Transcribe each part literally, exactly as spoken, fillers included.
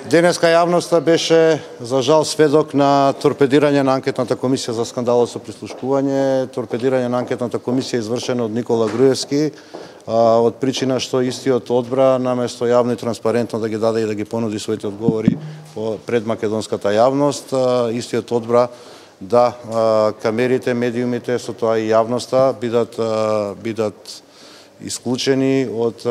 Денеска јавноста беше, за жал, сведок на торпедирање на анкетната комисија за скандалот со прислушкување, торпедирање на анкетната комисија извршена од Никола Груевски, од причина што истиот одбра, наместо јавно и транспарентно да ги даде и да ги понуди своите одговори пред македонската јавност, истиот одбра да камерите, медиумите, со тоа и јавноста бидат бидат исклучени од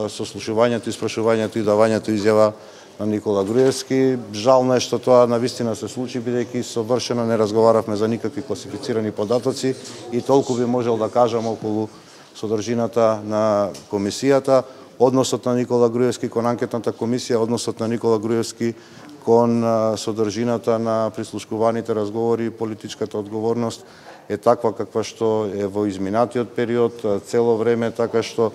сослушувањето, испрашувањето и давањето изјава на Никола Груевски. Жално е што тоа навистина се случи, бидејќи совршено не разговаравме за никакви класифицирани податоци и толку би можел да кажам околу содржината на комисијата, односот на Никола Груевски кон анкетната комисија, односот на Никола Груевски кон содржината на прислушкуваните разговори и политичката одговорност е таква каква што е во изминатиот период, цело време, така што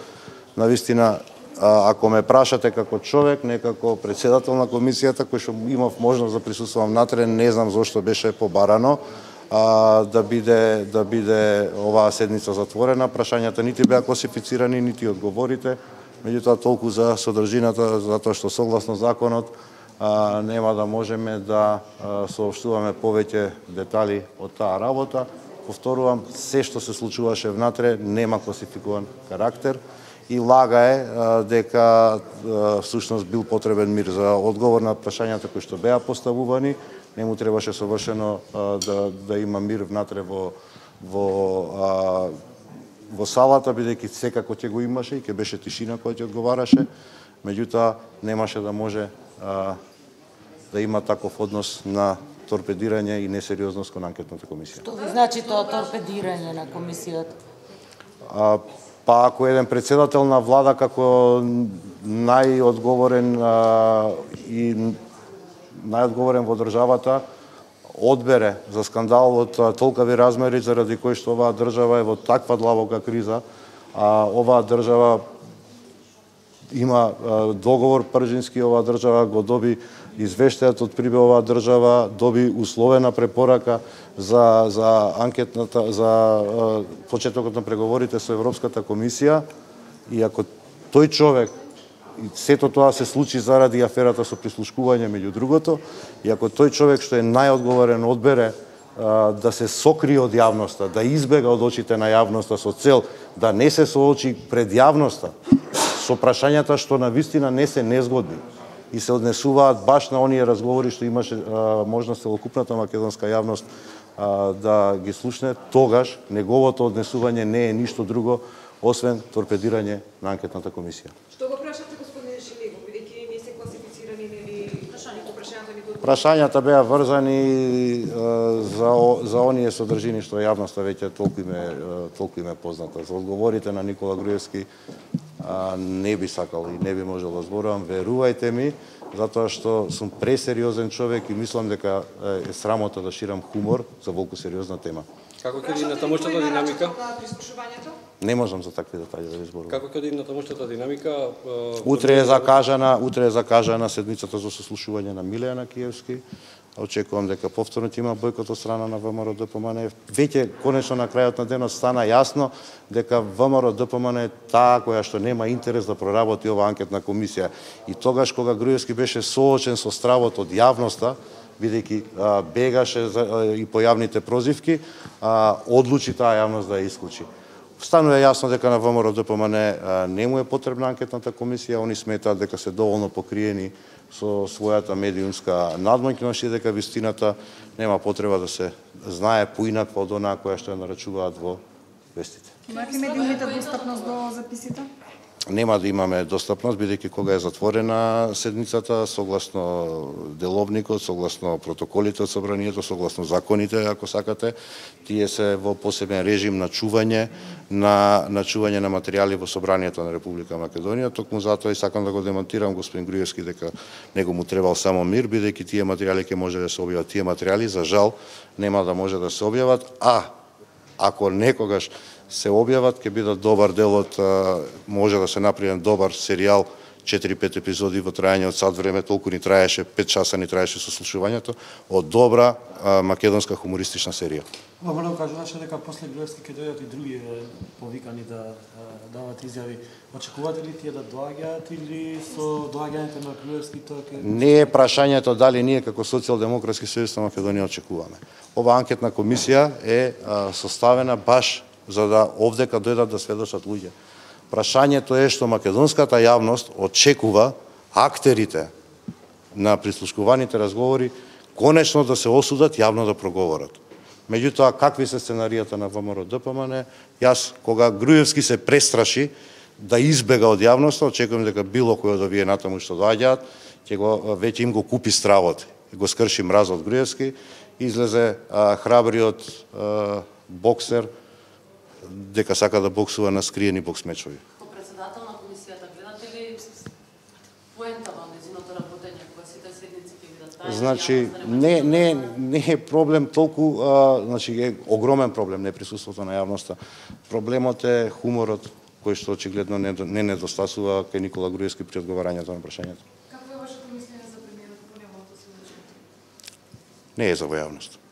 навистина ако ме прашате како човек, не како председател на комисијата, кој што имав можност да присуствувам натре, не знам зошто беше побарано а, да биде да биде оваа седница затворена. Прашањата нити беа класифицирани, нити одговорите. Меѓутоа толку за содржината, затоа што согласно законот а, нема да можеме да а, соопштуваме повеќе детали од таа работа. Повторувам, се што се случуваше внатре нема класификуван карактер. И лага е дека всушност бил потребен мир за одговор на прашањата кои што беа поставувани. Не му требаше совршено да да има мир внатре во во а, во салата, бидејќи секако ќе го имаше и ќе беше тишина која ќе одговараше. Меѓутоа немаше да може а, да има таков однос на торпедирање и несериозност кон анкетната комисија. Што ви значи тоа торпедирање на комисијата? А, Па ако еден председател на влада како најодговорен а, и најодговорен во државата одбере за скандал од толкави размери заради кој што оваа држава е во таква длабока криза, а оваа држава има а, договор пржински, оваа држава го доби извештајот од Прибе, оваа држава доби условена препорака за за анкетната за а, почетокот на преговорите со Европската комисија, и ако тој човек и сето тоа се случи заради аферата со прислушкување меѓу другото, и ако тој човек што е најодговорен одбере а, да се сокрие од јавноста, да избега од очите на јавноста со цел да не се соочи пред јавноста со прашањата што навистина не се незгодни и се однесуваат баш на оние разговори што имаше а, можност целокупната македонска јавност а, да ги слушне, тогаш неговото однесување не е ништо друго освен торпедирање на анкетната комисија. Што го прашате, господин Шилегов, бидејќи не се класифицирани нели прашањата ни го Прашањата беа врзани а, за за оние содржини што јавноста веќе толку име толку име позната. За одговорите на Никола Груевски а, не би сакал и не би можел да зборувам, верувајте ми, затоа што сум пресериозен човек и мислам дека е срамота да ширам хумор за волку сериозна тема. Како ќе иде натамошната динамика? Не можам за такви детали да ви зборувам. Како ќе иде натамошната динамика? Утре е закажана, утре е закажана седмицата за сослушување на Милејана Киевски. Очекувам дека повторно ќе има бојкот од страна на ВМРО Д П М Н. Веќе конечно на крајот на денот стана јасно дека ВМРО Д П М Н е таа која што нема интерес да проработи оваа анкетна комисија. И тогаш кога Груевски беше соочен со стравот од јавноста, бидејќи бегаше за, а, и по јавните прозивки, а, одлучи таа јавност да ја исклучи. Станува јасно дека на ВМРО Д П М Н не му е потребна анкетната комисија, они сметаат дека се доволно покриени со својата медиумска надмоќност и дека вистината нема потреба да се знае поинаква од онаа која што ја нарачуваат во вестите. Имаат ли медиумите достапност до записите? Нема да имаме достапност, бидејќи кога е затворена седницата, согласно деловникот, согласно протоколите од собранието, согласно законите, ако сакате, тие се во посебен режим на чување на на чување на материјали во собранието на Република Македонија. Токму затоа и сакам да го демонтирам господин Груевски дека него му требал само мир, бидејќи тие материјали ќе може да се објават. Тие материјали за жал нема да може да се објават, а ако некогаш се објават, ќе бидат добар дел од, може да се направи добар серијал четири-пет епизоди во трајање од сат време, толку ни траеше, пет часа ни траеше сослушувањето, од добра а, македонска хумористична серија. Ова мора да кажуваше дека после Груевски ќе дојдат и други повикани да дават изјави. Очекувате ли тие да доаѓаат или со доаѓањето на Груевски тоа ќе... Не е прашањето дали ние како Социјалдемократски сојуз на Македонија очекуваме. Ова анкетна комисија е а, составена баш за да овдека дојдат да сведочат луѓе. Прашањето е што македонската јавност очекува актерите на прислушкуваните разговори конечно да се осудат, јавно да проговорат. Меѓутоа, какви се сценаријата на ВМРО-ДПМН, јас, кога Груевски се престраши да избега од јавноста, очекувам дека било кој од овие натаму што доаѓаат, ќе го веќе им го купи стравот, го скрши мразот Груевски, излезе а, храбриот а, боксер дека сака да боксува на скриени боксмечови. Како председател на комисијата, гледате ли поента во нејзиното работење, кога сите седници ќе бидат тајни? Значи, не, не, не е проблем толку, а, значи е огромен проблем неприсуството на јавноста. Проблемот е хуморот, кој што очигледно не, не недостасува кај Никола Груевски при одговарањето на прашањето. Какво е вашето мислење за премиерот по неговото сведочење? Не е за во јавност.